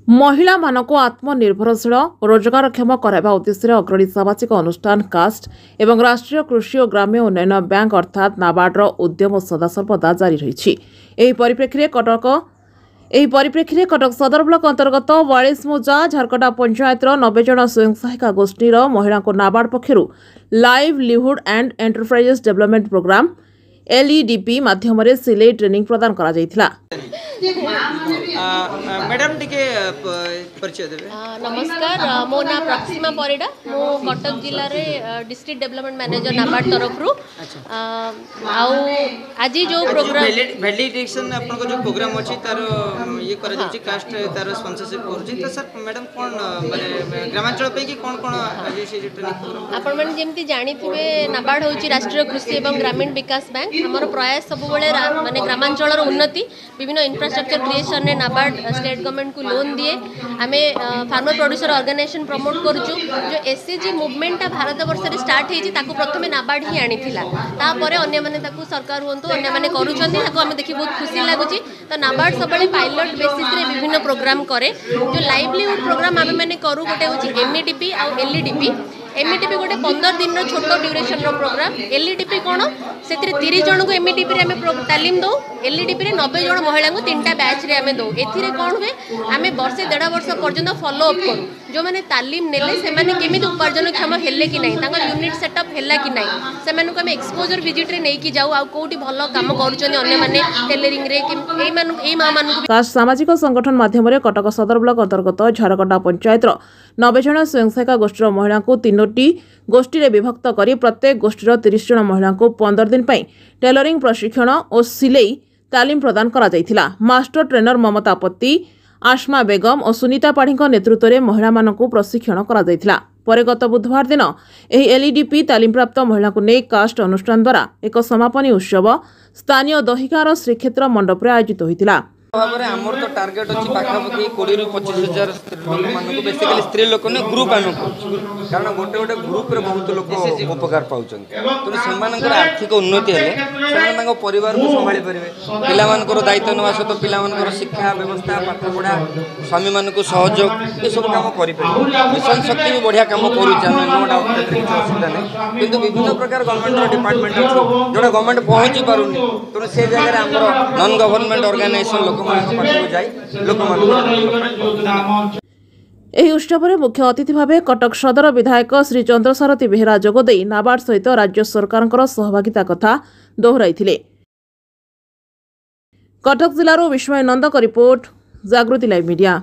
ମହିଳାମାନଙ୍କୁ ଆତ୍ମନିର୍ଭରଶୀଳ ଓ ରୋଜଗାରକ୍ଷମ କରାଇବା ଉଦ୍ଦେଶ୍ୟରେ ଅଗ୍ରଣୀ ସାମାଜିକ ଅନୁଷ୍ଠାନ କାଷ୍ଟ ଏବଂ ରାଷ୍ଟ୍ରୀୟ କୃଷି ଓ ଗ୍ରାମ୍ୟ ଉନ୍ନୟନ ବ୍ୟାଙ୍କ ଅର୍ଥାତ୍ ନାବାର୍ଡର ଉଦ୍ୟମ ସଦାସର୍ବଦା ଜାରି ରହିଛି। ଏହି ପରିପ୍ରେକ୍ଷୀରେ କଟକ ସଦର ବ୍ଲକ ଅନ୍ତର୍ଗତ ୱାଳିଶମୁଜା ଝାରକଟା ପଞ୍ଚାୟତର 90 ଜଣ ସ୍ୱୟଂ ସହାୟିକା ଗୋଷ୍ଠୀର ମହିଳାଙ୍କୁ ନାବାର୍ଡ ପକ୍ଷରୁ Livelihood and Enterprises Development Programme, LEDP ମାଧ୍ୟମରେ ସିଲେଇ ଟ୍ରେନିଂ ପ୍ରଦାନ କରାଯାଇଥିଲା। ମ୍ୟାଡ଼ାମ୍, ଟିକେ ପରିଚୟ ଦେବେ? ନମସ୍କାର, ମୋ ନାଁ ପ୍ରକ୍ସିମା ପରିଡ଼ା। ମୁଁ କଟକ ଜିଲ୍ଲାରେ ଡିଷ୍ଟ୍ରିକ୍ଟ ଡେଭଲପମେଣ୍ଟ ମ୍ୟାନେଜର ନାବାର୍ଡ଼ ତରଫରୁ। ଆଉ ଆଜି ଯେଉଁ ପ୍ରୋଗ୍ରାମ ଭ୍ୟାଲିଡେସନ୍ ଆପଣଙ୍କ ଯେଉଁ ପ୍ରୋଗ୍ରାମ ଅଛି, ତାର ଇଏ କରାଯାଉଛି, କାଷ୍ଟ ତାର ସ୍ପନ୍ସରସିପ୍ କରୁଛି। ତ ସାର୍, ମ୍ୟାଡ଼ାମ୍, କ'ଣ ମାନେ ଗ୍ରାମାଞ୍ଚଳ ପାଇଁ କି କ'ଣ କ'ଣ ଆଜି ସେ ଯେଉଁ ଟ୍ରେନିଂ ପ୍ରୋଗ୍ରାମ? ଆପଣମାନେ ଯେମିତି ଜାଣିଥିବେ, ନାବାର୍ଡ଼ ହେଉଛି ରାଷ୍ଟ୍ରୀୟ କୃଷି ଏବଂ ଗ୍ରାମୀଣ ବିକାଶ ବ୍ୟାଙ୍କ। ଆମର ପ୍ରୟାସ ସବୁବେଳେ ମାନେ ଗ୍ରାମାଞ୍ଚଳର ଉନ୍ନତି। ବିଭିନ୍ନ ଇନଫ୍ରାଷ୍ଟ୍ରକ୍ଚର କ୍ରିଏସନରେ ନାବାର୍ଡ଼ ଷ୍ଟେଟ୍ ଗଭର୍ଣ୍ଣମେଣ୍ଟକୁ ଲୋନ୍ ଦିଏ। ଆମେ ଫାର୍ମର ପ୍ରଡ୍ୟୁସର ଅର୍ଗାନାଇଜେସନ୍ ପ୍ରମୋଟ୍ କରୁଛୁ। ଯେଉଁ ଏସ୍ଏଚଜି ମୁଭମେଣ୍ଟଟା ଭାରତ ବର୍ଷରେ ଷ୍ଟାର୍ଟ ହେଇଛି, ତାକୁ ପ୍ରଥମେ ନାବାର୍ଡ଼ ହିଁ ଆଣିଥିଲା। ତାପରେ ଅନ୍ୟମାନେ ତାକୁ, ସରକାର ହୁଅନ୍ତୁ, ଅନ୍ୟମାନେ କରୁଛନ୍ତି। ତାକୁ ଆମେ ଦେଖି ବହୁତ ଖୁସି ଲାଗୁଛି। ତ ନାବାର୍ଡ଼ ସବୁବେଳେ ପାଇଲଟ୍ ବେସିସ୍ରେ ବିଭିନ୍ନ ପ୍ରୋଗ୍ରାମ କରେ। ଯେଉଁ ଲାଇଭଲିହୁଡ୍ ପ୍ରୋଗ୍ରାମ ଆମେମାନେ କରୁ, ଗୋଟେ ହେଉଛି ଏମ୍ଇଡିପି ଆଉ ଏଲ୍ଇଡିପି। ଏମ୍ଇଡିପି ଗୋଟେ 15 ଦିନର ଛୋଟ ଡ୍ୟୁରେସନର ପ୍ରୋଗ୍ରାମ। ଏଲ୍ଇଡିପି କ'ଣ? ସେଥିରେ 30 ଜଣଙ୍କୁ ଏମ୍ଇଡିପିରେ ଆମେ ତାଲିମ ଦେଉ। ଏଲ୍ଇଡିପିରେ 90 ଜଣ ମହିଳାଙ୍କୁ ତିନିଟା ବ୍ୟାଚ୍ରେ ଆମେ ଦେଉ। ଏଥିରେ କ'ଣ ହୁଏ, ଆମେ ବର୍ଷେ ଦେଢ଼ ବର୍ଷ ପର୍ଯ୍ୟନ୍ତ ଫଲୋ ଅପ୍ କରୁ। ଯେଉଁମାନେ ତାଲିମ ନେଲେ, ସେମାନେ କେମିତି ଉପାର୍ଜନକ୍ଷମ ହେଲେ କି ନାହିଁ, ତାଙ୍କ ୟୁନିଟ୍ ସେଟଅପ୍ ହେଲା କି ନାହିଁ, ସେମାନଙ୍କୁ ଆମେ ଏକ୍ସପୋଜର ଭିଜିଟ୍ରେ ନେଇକି ଯାଉ। ଆଉ କେଉଁଠି ଭଲ କାମ କରୁଛନ୍ତି ଅନ୍ୟମାନେ ଟେଲରିଂରେ, ଏଇମାନଙ୍କୁ, ଏଇ ମାଆମାନଙ୍କୁ କାଷ୍ଟ ସାମାଜିକ ସଂଗଠନ ମାଧ୍ୟମରେ କଟକ ସଦର ବ୍ଲକ ଅନ୍ତର୍ଗତ ଝାରକଟା ପଞ୍ଚାୟତର 90 ଜଣ ସ୍ୱୟଂ ସହାୟିକା ଗୋଷ୍ଠୀର ମହିଳାଙ୍କୁ ତିନୋଟି ଗୋଷ୍ଠୀରେ ବିଭକ୍ତ କରି ପ୍ରତ୍ୟେକ ଗୋଷ୍ଠୀର 30 ଜଣ ମହିଳାଙ୍କୁ 15 ଦିନ ପାଇଁ ଟେଲରିଂ ପ୍ରଶିକ୍ଷଣ ଓ ସିଲେଇ ତାଲିମ ପ୍ରଦାନ କରାଯାଇଥିଲା। ମାଷ୍ଟର ଟ୍ରେନର ମମତା ପତି, ଆସ୍ମା ବେଗମ ଓ ସୁନିତା ପାଢ଼ୀଙ୍କ ନେତୃତ୍ୱରେ ମହିଳାମାନଙ୍କୁ ପ୍ରଶିକ୍ଷଣ କରାଯାଇଥିଲା। ପରେ ଗତ ବୁଧବାର ଦିନ ଏହି ଏଲ୍ଇଡିପି ତାଲିମପ୍ରାପ୍ତ ମହିଳାଙ୍କୁ ନେଇ କାଷ୍ଟ ଅନୁଷ୍ଠାନ ଦ୍ୱାରା ଏକ ସମାପନୀ ଉତ୍ସବ ସ୍ଥାନୀୟ ଦହିଗାଁର ଶ୍ରୀକ୍ଷେତ୍ର ମଣ୍ଡପରେ ଆୟୋଜିତ ହୋଇଥିଲା। ଭାବରେ ଆମର ତ ଟାର୍ଗେଟ୍ ଅଛି ପାଖାପାଖି 20ରୁ 25 ହଜାର ସ୍ତ୍ରୀ ଲୋକମାନଙ୍କୁ। ବେସିକାଲି ସ୍ତ୍ରୀ ଲୋକ ନୁହେଁ, ଗ୍ରୁପ୍ ଆମେ କରୁଛୁ। କାରଣ ଗୋଟେ ଗୋଟେ ଗ୍ରୁପ୍ରେ ବହୁତ ଲୋକ ଉପକାର ପାଉଛନ୍ତି। ତେଣୁ ସେମାନଙ୍କର ଆର୍ଥିକ ଉନ୍ନତି ହେଲେ ସେମାନେ ତାଙ୍କ ପରିବାରକୁ ସମ୍ଭାଳି ପାରିବେ। ପିଲାମାନଙ୍କର ଦାୟିତ୍ୱ ନେବା ସହିତ ପିଲାମାନଙ୍କର ଶିକ୍ଷା ବ୍ୟବସ୍ଥା, ପାଠପଢ଼ା, ସ୍ୱାମୀମାନଙ୍କୁ ସହଯୋଗ, ଏସବୁ କାମ କରିପାରିବେ। ମିଶନ ଶକ୍ତି ବି ବଢ଼ିଆ କାମ କରୁଛି, ଆମେ ନୋ ଡାଉଟ୍, ସେଥିରେ କିଛି ଅସୁବିଧା ନାହିଁ। କିନ୍ତୁ ବିଭିନ୍ନ ପ୍ରକାର ଗଭର୍ଣ୍ଣମେଣ୍ଟର ଡିପାର୍ଟମେଣ୍ଟ ଅଛି, ଯେଉଁଟା ଗଭର୍ଣ୍ଣମେଣ୍ଟ ପହଞ୍ଚି ପାରୁନି। ତେଣୁ ସେ ଜାଗାରେ ଆମର ନନ୍ ଗଭର୍ଣ୍ଣମେଣ୍ଟ ଅର୍ଗାନାଇଜେସନ୍ ଲୋକମାନଙ୍କ ପାଖକୁ ଯାଇ ଲୋକମାନଙ୍କର ଡେଭଲପମେଣ୍ଟ କରୁଛି। ଏହି ଉତ୍ସବରେ ମୁଖ୍ୟ ଅତିଥି ଭାବେ କଟକ ସଦର ବିଧାୟକ ଶ୍ରୀ ଚନ୍ଦ୍ରସାରଥୀ ବେହେରା ଯୋଗଦେଇ ନାବାର୍ଡ ସହିତ ରାଜ୍ୟ ସରକାରଙ୍କର ସହଭାଗିତା କଥା ଦୋହରାଇଥିଲେ। କଟକ ଜିଲ୍ଲାରୁ ବିସ୍ମୟ ନନ୍ଦଙ୍କ ରିପୋର୍ଟ, ଜାଗୃତି ଲାଇଭ୍ ମିଡିଆ।